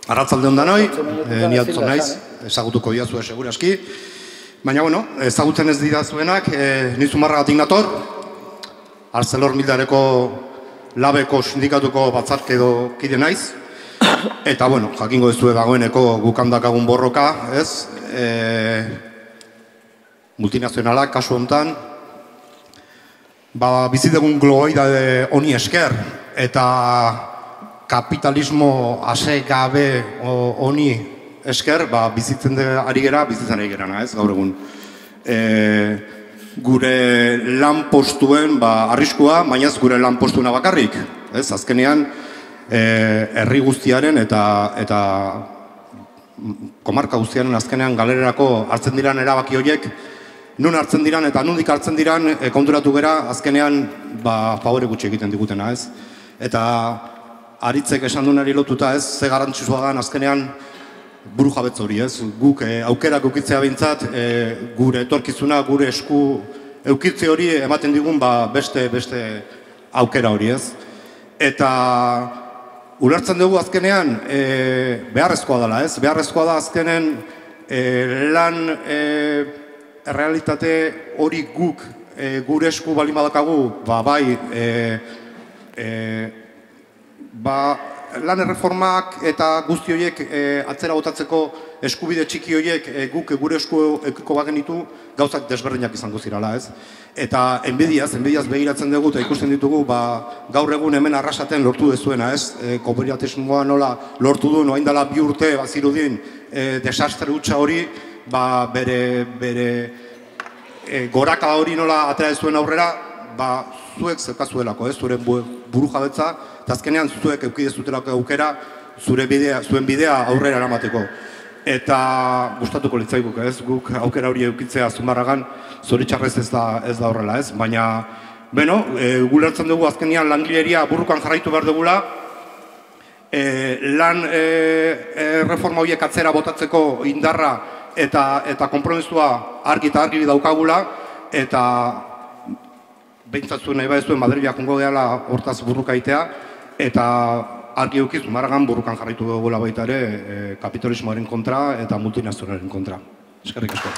Arratzalde hon danoi, ni Adson naiz, ezagutuko diazue seguraski. Baina, bueno, ezagutzen ez didazuenak, ni Zumarragatik nator, ArcelorMittaleko labeko sindikatuko batzarke edo kide naiz. Eta, bueno, jakingo duzue dagoeneko gukandakagun borroka, ez? Multinazionalak, kasu honetan, bizidegun globalitate honi esker, eta kapitalismo ase gabe honi esker, bizitzen ari gera, ez, gaur egun. Gure lan postuen arriskua, baina ez gure lan postuena bakarrik. Azkenean, herri guztiaren eta komarka guztiaren azkenean galererako hartzen diran erabaki horiek, nun hartzen diran eta nundik hartzen diran konturatu gera azkenean favore gutxi egiten digutena, ez? Eta aritzek esan duenari lotuta, ez, ze garrantzitsua da azkenean buru jabetz hori, ez? Guk aukerak eukitzea behintzat, gure etorkizuna, gure esku eukitze hori ematen digun beste aukera hori, ez? Eta ulertzen dugu azkenean beharrezkoa dela, ez? Beharrezkoa da azkenen lan realitate hori guk gure esku baldin badakagu, lan erreformak eta guzti horiek atzera botatzeko eskubide txiki horiek guk gure esku eukiko bagenitu gauzak desberdinak izango zirala, ez? Eta enbidiaz begiratzen dugu eta ikusten ditugu gaur egun hemen arrasaten lortu dezuena, ez? Kooperativismoa nola lortu du, orain dela 2 urte bazirudin desastre hutsa hori, bere goraka hori nola atera dezuen aurrera, zuek zeukazuelako, ez? Zure buru jabetza, eta azkenean zuek eukidezutelako aukera zuen bidea aurrera eramateko. Eta gustatuko litzaiguk, ez? Guk aukera hori eukitzea Zumarragan zoritxarrez ez da horrela, ez? Baina, gulertzen dugu azkenean langileria burrukan jarraitu behar dugula, lan reforma horiek atzera botatzeko indarra eta konpromisua argi eta argi daukagula, eta behintzatzu nahi badezuen Madrilak jongo gehala hortaz burruka itea, eta argi eukiz Zumarragan burrukan jarraitu dugula baita ere kapitalismoaren kontra eta multinazionalen kontra. Eskerrik asko.